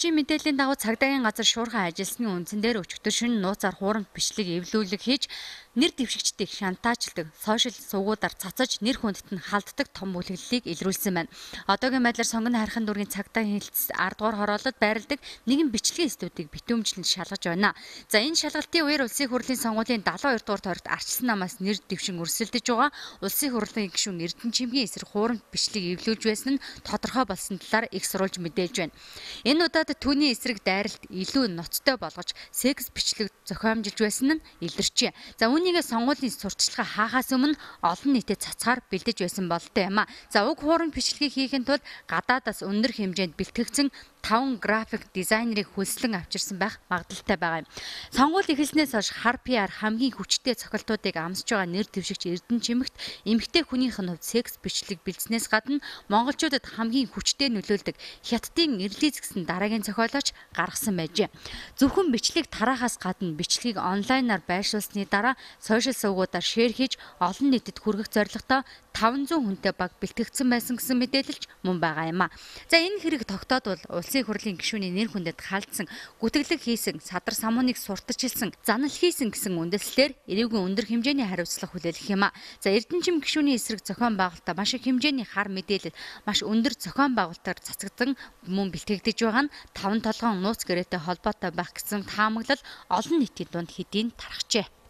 Орчин мэдээллийн дагуу цагдаагийн газар шуурхай ажилласны үндсэн дээр өчигдөр шөнө нууцаар хуурамч бичлэг эвлүүлэг хийж нэр дэвшигчдийг шантаажладаг, сошиал сувгуудаар цацаж нэр хүндэт нь халддаг том бүлэглэлийг илрүүлсэн байна. Одоогийн байдлаар сонгоны хархан дүүргийн цагдаагийн хэлтс 10 дугаар хороололд байрладаг нэгэн бичлэгийн студийг битүүмжлэн шалгаж байна. За энэ шалгалтын үеэр улсын хурлын сонгуулийн 72 дугаар тойрогт ардчилсан намаас нэр дэвшин өрсөлдөж байгаа. Улсын хурлын гишүүн Эрдэнэчимгийн эсрэг хуурамч бичлэг эвлүүлж байсан нь тодорхой болсон талаар их сурвалж мэдээлж байна. Энэ удаад түүний эсрэг дайралт илүү ноцтой болгож секс бичлэг зохиомжилж байсан нь илэрчээ. За үүнийгээ сонгуулийн сурталчилгаа хаахаас өмнө олон нийтэд цацгаар бэлдэж байсан болтой юм а. За уг хуурамч бичлэгийг хийхин тулд гадаадаас өндөр хэмжээнд бэлтгэгдсэн 5 график дизайнерыг хөлслөн авчирсан байх магадлалтай байгаа юм. Сонгуул эхэлснээс хойш хар PR хамгийн хүчтэй цохилтуудыг амсаж байгаа нэр дэвшигч Эрдэнэчимэгт эмэгтэй хүнийх нь хувьд секс бичлэг бэлдснээс гадна монголчуудад хамгийн хүчтэй нөлөөлдөг хятадын эрлиз гэсэн дараагийн зохиолооч гаргасан байжээ. Зөвхөн бичлэгийг тараахаас гадна бичлэгийг онлайнаар байршуулсны дараа сошиал сувгуудаар шеэр хийж олон нийтэд хүргэх зорилготой 500 хүнтэй баг бэлтгэгдсэн байсан гэсэн мэдээлэлч мөн байгаа юм а. За энэ хэрэг тогтоодвол улсын хурлын гишүүний нэр хүндэд халдсан, гүтгэлэг хийсэн, садар самууныг сурталчилсан, занал хийсэн гэсэн үндэслэлээр эрүүгийн өндөр хэмжээний хариуцлага хүлээх юм а. За Эрдэнэчим гишүүний эсрэг зохион байгуулалтаа маш их хэмжээний хар мэдээлэл, маш өндөр зохион байгуулалтаар цацагдан мөн бэлтгэгдэж байгаа нь 5 толгоон нууц гэрээтэй холбоотой байх гэсэн таамаглал олон нийтийн дунд хэдийн тархжээ.